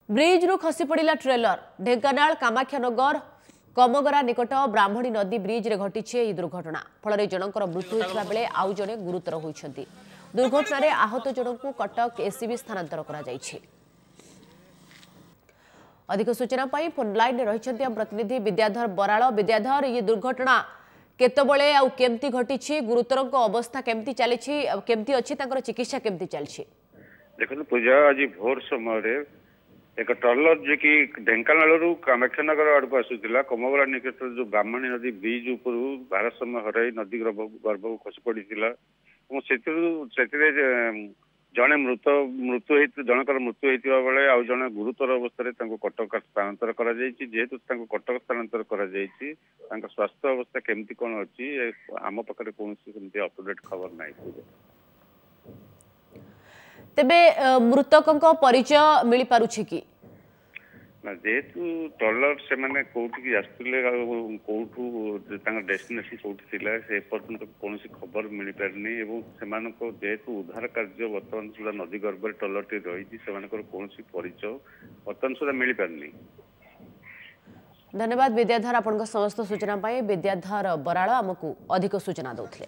ବ୍ରିଜ୍ରୁ ଖସି ପଡ଼ିଲା ଟ୍ରେଲର। ଢେଙ୍କାନାଳ କାମାକ୍ଷାନଗର କମଗରା ନିକଟ ବ୍ରାହ୍ମଣୀ ନଦୀ ବ୍ରିଜ୍ରେ ଘଟିଛି ଏହି ଦୁର୍ଘଟଣା। ଫଳରେ ଜଣଙ୍କର ମୃତ୍ୟୁ ହୋଇଥିବା ବେଳେ ଆଉ ଜଣେ ଗୁରୁତର ହୋଇଛନ୍ତି। ଦୁର୍ଘଟଣାରେ ଆହତ ଜଣଙ୍କୁ କଟକ ଏସ୍ସିବି ସ୍ଥାନାନ୍ତର କରାଯାଇଛି। ଅଧିକ ସୂଚନା ପାଇଁ ଫୋନ୍ ଲାଇନ୍ରେ ରହିଛନ୍ତି ଆମ ପ୍ରତିନିଧି ବିଦ୍ୟାଧର ବରାଳ। ବିଦ୍ୟାଧର, ଇଏ ଦୁର୍ଘଟଣା କେତେବେଳେ ଆଉ କେମିତି ଘଟିଛି? ଗୁରୁତରଙ୍କ ଅବସ୍ଥା କେମିତି ଚାଲିଛି, କେମିତି ଅଛି, ତାଙ୍କର ଚିକିତ୍ସା କେମିତି ଚାଲିଛି? ଦେଖନ୍ତୁ ପୂଜା, ଆଜି ଭୋର ସମୟରେ ଏକ ଟ୍ରଲର ଯିଏକି ଢେଙ୍କାନାଳରୁ କାମାକ୍ଷାନଗର ଆଡ଼କୁ ଆସୁଥିଲା, କମଗରା ନିକଟରେ ଯୋଉ ବ୍ରାହ୍ମଣୀ ନଦୀ ବ୍ରିଜ ଉପରୁ ଭାରସାମ୍ୟ ହରାଇ ନଦୀ ଗର୍ଭକୁ ଖସି ପଡ଼ିଥିଲା ଏବଂ ସେଥିରେ ଜଣେ ମୃତ ମୃତ୍ୟୁ ହେଇ ଜଣଙ୍କର ମୃତ୍ୟୁ ହେଇଥିବା ବେଳେ ଆଉ ଜଣେ ଗୁରୁତର ଅବସ୍ଥାରେ ତାଙ୍କୁ କଟକ ସ୍ଥାନାନ୍ତର କରାଯାଇଛି। ଯେହେତୁ ତାଙ୍କୁ କଟକ ସ୍ଥାନାନ୍ତର କରାଯାଇଛି, ତାଙ୍କ ସ୍ୱାସ୍ଥ୍ୟ ଅବସ୍ଥା କେମିତି କଣ ଅଛି ଆମ ପାଖରେ କୌଣସି ସେମିତି ଅପଡେଟ୍ ଖବର ନାହିଁ। ତେବେ ମୃତକଙ୍କ ପରିଚୟ ମିଳିପାରୁଛି କି ନା? ଯେହେତୁ ଟ୍ରଲର ସେମାନେ କୋଉଠିକି ଆସୁଥିଲେ ଆଉ କୋଉଠୁ ତାଙ୍କ ଡେଷ୍ଟିନେସନ କୋଉଠି ଥିଲା ସେ ପର୍ଯ୍ୟନ୍ତ କୌଣସି ଖବର ମିଳିପାରିନି ଏବଂ ସେମାନଙ୍କ ଯେହେତୁ ଉଦ୍ଧାର କାର୍ଯ୍ୟ ବର୍ତ୍ତମାନ ସୁଦ୍ଧା ନଦୀ ଗର୍ଭରେ ଟ୍ରଲରଟି ରହିଛି, ସେମାନଙ୍କର କୌଣସି ପରିଚୟ ବର୍ତ୍ତମାନ ସୁଦ୍ଧା ମିଳିପାରିନି। ଧନ୍ୟବାଦ ବିଦ୍ୟାଧର ଆପଣଙ୍କ ସମସ୍ତ ସୂଚନା ପାଇଁ। ବିଦ୍ୟାଧର ବରାଳ ଆମକୁ ଅଧିକ ସୂଚନା ଦେଉଥିଲେ।